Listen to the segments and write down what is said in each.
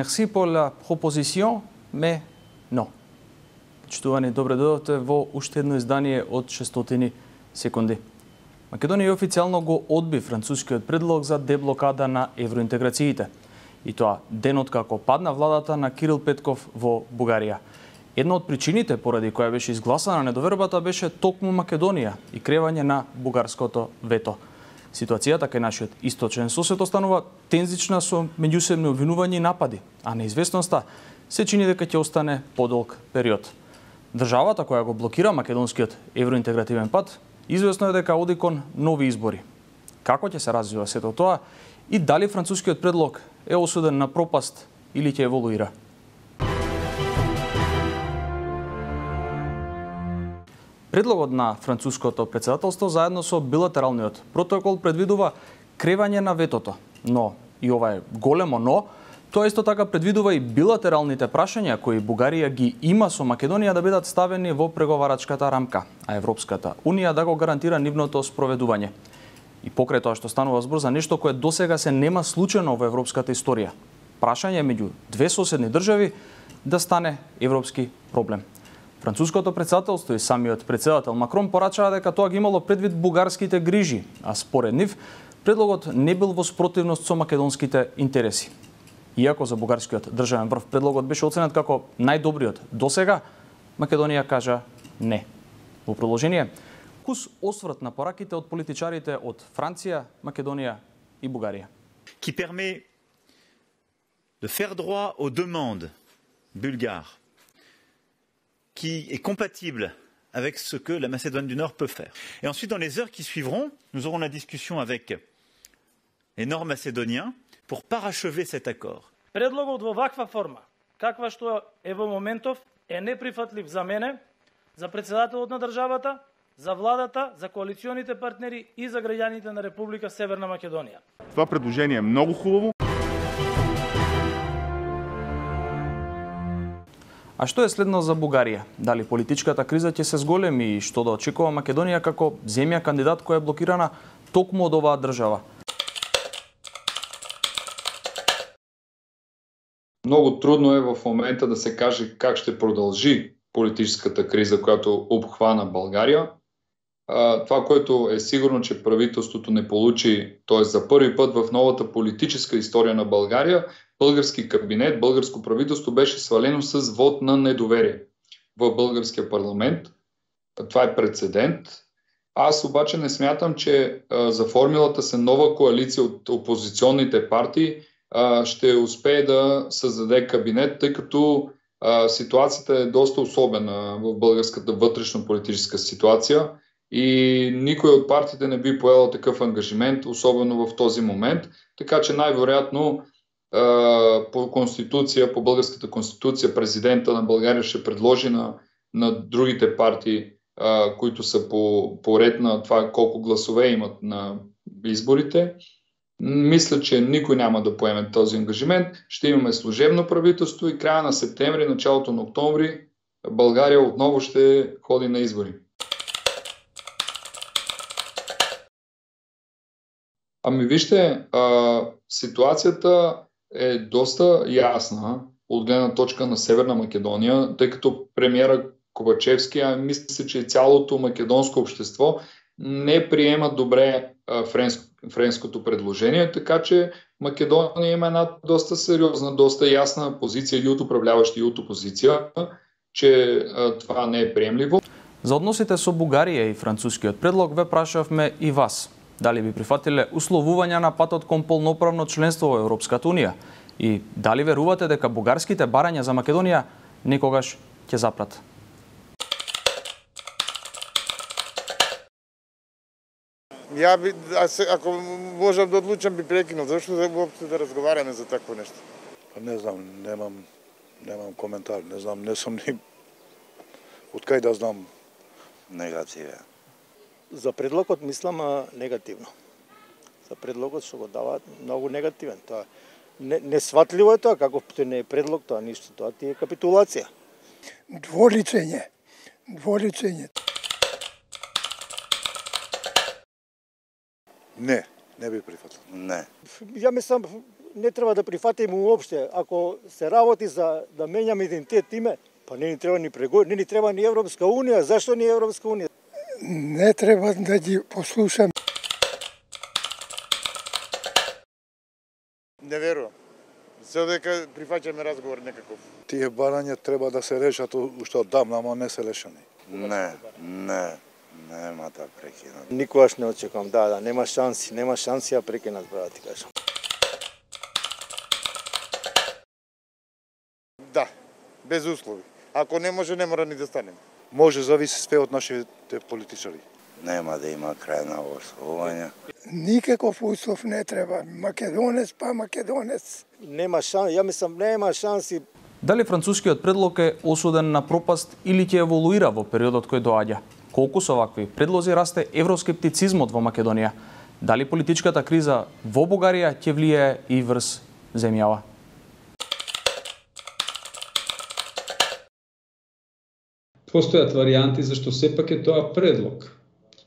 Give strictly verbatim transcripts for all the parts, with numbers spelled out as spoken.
Merci pour la proposition, mais non. Почитувани, добре дојдовте во уште едно издание од шестстотини секунди. Македонија официјално го одби францускиот предлог за деблокада на евроинтеграциите. И тоа денот како падна владата на Кирил Петков во Бугарија. Една од причините поради која беше изгласана недовербата беше токму Македонија и кревање на бугарското вето. Ситуацијата кај нашиот источен сосед останува тензична со меѓусебни обвинувања и напади, а неизвестноста се чини дека ќе остане подолг период. Државата која го блокира македонскиот евроинтегративен пат, известно е дека оди кон нови избори. Како ќе се развива сето тоа и дали францускиот предлог е осуден на пропаст или ќе еволуира? Предлогот на француското претседателство заедно со билатералниот протокол предвидува кревање на ветото, но и ова е големо но, тоа исто така предвидува и билатералните прашања кои Бугарија ги има со Македонија да бидат ставени во преговарачката рамка, а Европската Унија да го гарантира нивното спроведување. И покрај тоа што станува збор за нешто кое досега се нема случено во европската историја. Прашање меѓу две соседни држави да стане европски проблем. Француското претседателство и самиот претседател Макрон порачаа дека тоа ги имало предвид бугарските грижи, а според нив предлогот не бил во спротивност со македонските интереси. Иако за бугарскиот државен врв предлогот беше оценет како најдобриот досега, Македонија кажа не. Во продолжение, кус осврт на пораките од политичарите од Франција, Македонија и Бугарија. Qui permet de faire droit aux demandes bulgares, qui est compatible avec ce que la Macédoine du Nord peut faire. Et ensuite, dans les heures qui suivront, nous aurons la discussion avec les nord-macédoniens pour parachever cet accord. Предлогот во ваква форма, каква што е во моментов, е неприфатлив за мене, за председателот на државата, за владата, за коалиционите партнери и за граѓаните на Република Северна Македонија. Това предложение е многу хубаво. А што е следно за Бугарија? Дали политичката криза ќе се зголеми и што да очекува Македонија како земја кандидат која е блокирана токму од оваа држава? Многу трудно е во момента да се каже как ще продолжи политичката криза којато обхвана Българија. Това което е сигурно, че правителството не получи, т.е. за први пат в новата политическа историја на Българија, български кабинет, българско правителство беше свалено с вод на недоверие в българския парламент. Това е прецедент. Аз обаче не смятам, че а, за формулата се нова коалиция от опозиционните партии а, ще успее да създаде кабинет, тъй като а, ситуацията е доста особена в българската вътрешно-политическа ситуация и никой от партиите не би поел такъв ангажимент, особено в този момент. Така че най-вероятно по конституция, по българската конституция, президента на България ще предложи на, на другите партии, а, които са по, по ред на това колко гласове имат на изборите. Мисля, че никой няма да поеме този ангажимент. Ще имаме служебно правителство и края на септември, началото на октомври България отново ще ходи на избори. Ами вижте, а, ситуацията е доста ясна от гледна точка на Северна Македония, тъй като премиера Ковачевски, а мисля, че цялото македонско общество не приема добре а, френско, френското предложение, така че Македония има една доста сериозна, доста ясна позиция и от управляващи и от опозиция, че а, това не е приемливо. За односите со Бугарија и францускиот предлог ве прашавме и вас. Дали би прифатиле условувања на патот кон полноправно членство во Европската Унија? И дали верувате дека бугарските барања за Македонија некогаш ќе запрат? Ја би, ако можам да одлучам, би прекинал. Зашто да воопшто да разговараме за такво нешто? Па не знам, немам, немам коментар. Не знам, не сум ни... Од кај да знам? Негативен. За предлогот мислам негативно. За предлогот што го даваат многу негативен. Тоа не, несватливо е тоа, како тоа не е предлог, тоа ништо, тоа ти е капитулација. Дволицење. Дволицење. Не, Не би прифатил. Не. Ја мислам, не треба да прифатиме уопште. Ако се работи за да менјаме идентитет име, па не ни треба ни преговори, не ни треба ни Европска унија. Зашто ни Европска унија? Не треба да ги послушам. Не верувам. Се дека прифаќаме разговор некаков. Тие барања треба да се решат уште оддавна, ама не се решени. Не, не, нема да прекинат. Никогаш не очекувам, да, да, нема шанси, нема шанси ја прекинат, брат, ти кажам. Да, без услови. Ако не може, не мора ни да станем. Може, зависи све од нашите политичари. Нема да има крај на ословување. Никаков услов не треба. Македонец па македонец. Нема шанси, ја мислам, нема шанси. Дали францускиот предлог е осуден на пропаст или ќе еволуира во периодот кој доаѓа? Колку со вакви предлози расте евроскептицизмот во Македонија? Дали политичката криза во Бугарија ќе влијае и врз земјава? Постојат варијанти зашто сепак е тоа предлог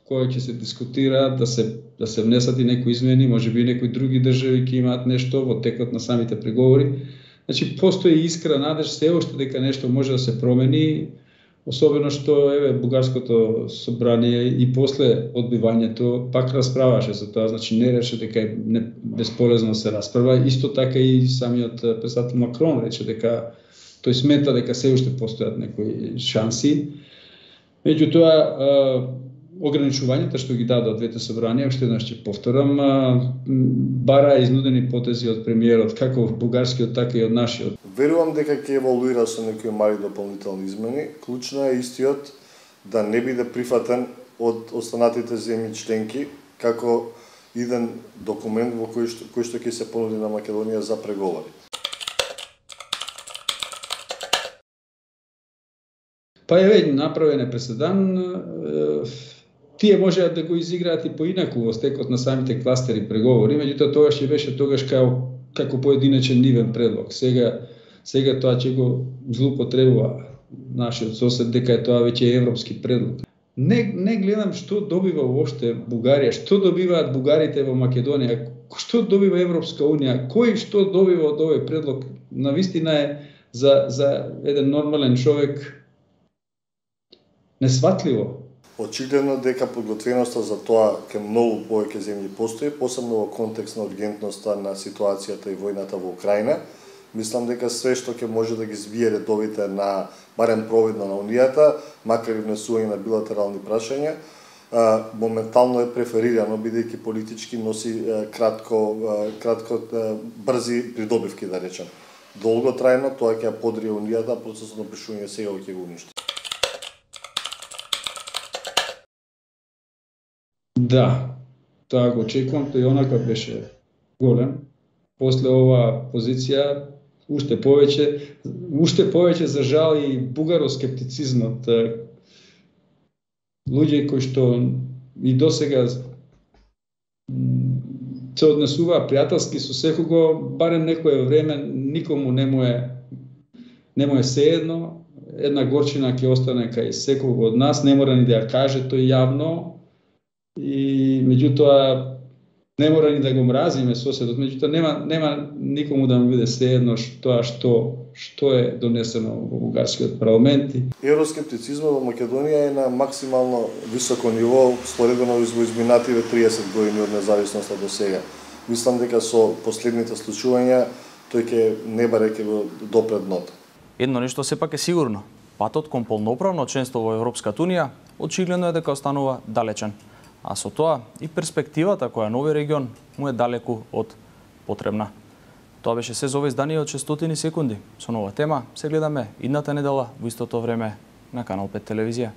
кој ќе се дискутира, да се да се внесат и некои измени, можеби некои други држави ќе имаат нешто во текот на самите преговори. Значи постои искра надеж се уште дека нешто може да се промени, особено што еве бугарското собрание и после одбивањето пак расправаше за тоа, значи не рече дека е не, бесполезно да се расправа. Исто така и самиот председател Макрон рече дека тој смета дека се уште постојат некои шанси. Меѓутоа, ограничувањата што ги дадоа двете собранија, уште еднаш ќе повторам, бара изнудени потези од премиерот, како бугарскиот, така и од нашиот. Верувам дека ќе еволуира со некои мали дополнителни измени. Клучно е истиот да не биде прифатен од останатите земји членки како еден документ во кој што, кој што ќе се понуди на Македонија за преговори. Па еве направен е преседан. Тие можеат да го изиграат и поинаку во стекот на самите кластери преговори, меѓутоа тогаш ќе беше тогаш како како поединечен нивен предлог. Сега сега тоа ќе го злоупотребува нашиот сосед дека е тоа веќе европски предлог. Не не гледам што добива уопште Бугарија, што добиваат бугарите во Македонија, што добива Европска унија, кој што добива од овој предлог. Навистина е за за еден нормален човек несватливо. Очигледно дека подготвеноста за тоа кај многу повеќе земји постои, посебно во контекст на ургентноста на ситуацијата и војната во Украина. Мислам дека све што ќе може да ги збие редовите на барем провидно на Унијата, макар и внесување на билатерални прашања, моментално е преферирано бидејќи политички носи кратко кратко брзи придобивки, да речем. Долготрајно тоа ќе ја подрие Унијата, процесот на пришување сега ќе го уништи. Да, тоа го очекувам, тој онака беше голем. После оваа позиција уште повеќе, уште повеќе за жал и бугароскептицизмот. Луѓе кои што и досега се однесуваа пријателски со секого, барем некое време никому не му е не му е сеедно, една горчина ќе остане кај секого од нас, не мора ни да ја каже тој јавно. И меѓутоа не мора ни да го мразиме соседот, меѓутоа нема нема никому да му биде сеедно тоа што што е донесено во бугарскиот парламент. Евроскептицизмот во Македонија е на максимално високо ниво споредено во изминативе триесет години од независноста до сега. Мислам дека со последните случувања тој ќе не баре ќе го допре дното. Едно нешто сепак е сигурно. Патот кон полноправно членство во Европската унија очигледно е дека останува далечен. А со тоа и перспективата која нови регион му е далеку од потребна. Тоа беше се за ова издание од шестстотини секунди. Со нова тема се гледаме идната недела во истото време на Канал пет телевизија.